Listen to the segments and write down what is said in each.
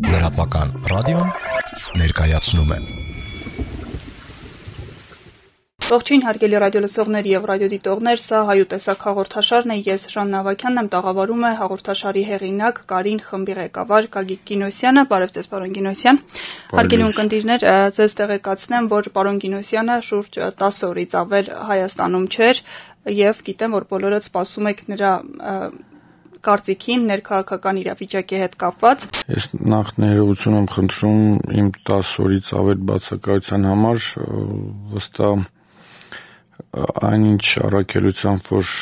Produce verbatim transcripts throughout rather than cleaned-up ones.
Լրատվական ռադիոն ներկայացնում է։ Ողջույն հարգելի ռադիոլսողներ եւ ռադիոդիտողներ, սա Հայու տեսակ հաղորդաշարն է, ես Ժաննա Ավագյանն եմ, տաղավարում է հաղորդաշարի հեղինակ Կարին խմբի ղեկավար Գագիկ Գինոսյանը, բարև ձեզ պարոն Գինոսյան։ Հարգելի ունկնդիրներ, ձեզ տեղեկացնեմ, որ պարոն Գինոսյանը շուրջ տասը օրից ավել Հայաստանում չէր եւ գիտեմ, որ բոլորդ սպասում եք նրա կարծիքին ներքաղաքական իրավիճակի հետ կապված։ Ես նախ ներողություն եմ խնդրում իմ տասը օրից ավել բացակայության համար, վստահ այնինչ առաքելությամբ, որ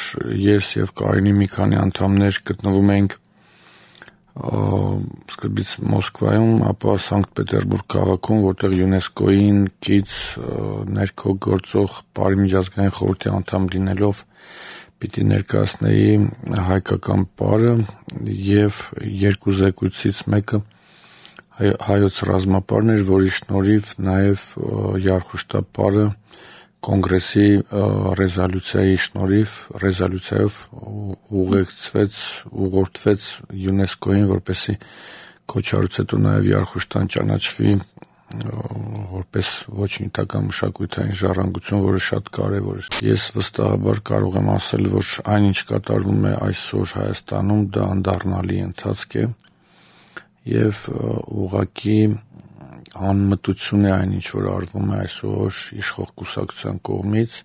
ես եւ Կարինի մի քանի անդամներ գտնվում ենք սկզբից Մոսկվայում, ապա Սանկտ Պետերբուրգ քաղաքում, որտեղ ՅՈՒՆԵՍԿՕ-ին կից ներքո գործող Բարի միջազգային խորհրդի անդամ լինելով պիտի ներկայացնեի հայկական պարը եւ երկու զեկույցից մեկը հայոց ռազմապարն էր, որի շնորհիվ նաեւ Յարխուշտապարը կոնգրեսի ռեզոլյուցիայի շնորհիվ ռեզոլյուցիայով ուղեկցվեց, ուղղորդվեց ՅՈՒՆԵՍԿՕ-ին, որպեսզի կոչարուց հետո նաև Յարխուշտան ճանաչվի որպես ոչ նյութական մշակութային ժառանգություն, որը շատ կարևոր է։ Ես վստահաբար կարող եմ ասել, որ այնինչ կատարվում է այսօր Հայաստանում, դա անդառնալի ընթացք է եւ ուղղակի անմտություն է այնինչ որ արվում է այսօր իշխող կուսակցության կողմից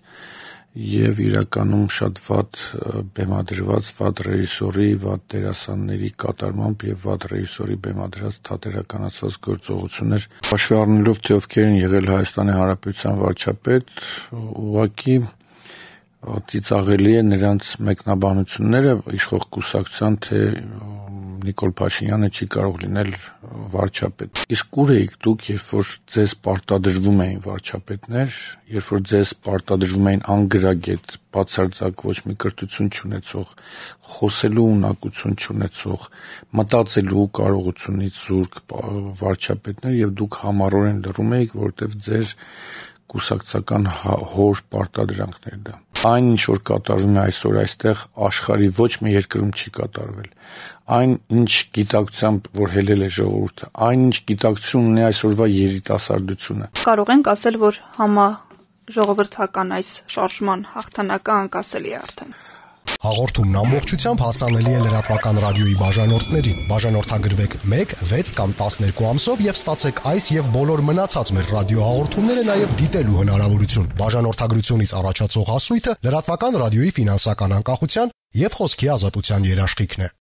եւ իրականում շատ վատ բեմադրված վատ ռեժիսորի, վատ դերասանների կատարմամբ եւ վատ ռեժիսորի բեմադրած թատերականացված գործողություններ հաշվի առնելով թե ովքեր են եղել Հայաստանի Հանրապետության վարչապետ, ուղղակի ծիծաղելի է նրանց մեկնաբանությունները իշխող կուսակցության, թե Նիկոլ Փաշինյանը չի կարող լինել վարչապետ։ Իսկ ուր էիք դուք, երբ որ ձեզ պարտադրվում էին վարչապետներ, երբ որ ձեզ պարտադրվում էին անգրագետ, բացարձակ ոչ մի կրթություն չունեցող, խոսելու ունակություն չունեցող, մտածելու կարողությունից զուրկ վարչապետներ եւ դուք համառորեն լռում էիք, որովհետեւ ձեր կուսակցական հոր պարտադրանքներ դա։ Այն ինչ որ կատարվում է այսօր այստեղ աշխարհի ոչ մի երկրում չի կատարվել։ Այն ինչ գիտակցությամբ որ հելել է ժողովուրդը, այն ինչ գիտակցություն ունի այսօրվա երիտասարդությունը։ Կարող ենք ասել, որ համա ժողովրդական այս շարժման հաղթանակը անկասելի է արդեն։ Հաղորդումն ամբողջությամբ հասանելի է լրատվական ռադիոյի բաժանորդներին։ Բաժանորդագրվեք մեկ, վեց կամ տասներկու ամսով եւ ստացեք այս եւ բոլոր մնացած մեր ռադիոհաղորդումները նաեւ դիտելու հնարավորություն։ Բաժանորդագրությունից առաջացող հասույթը լրատվական ռադիոյի ֆինանսական անկախության եւ խոսքի ազատության երաշխիքն է։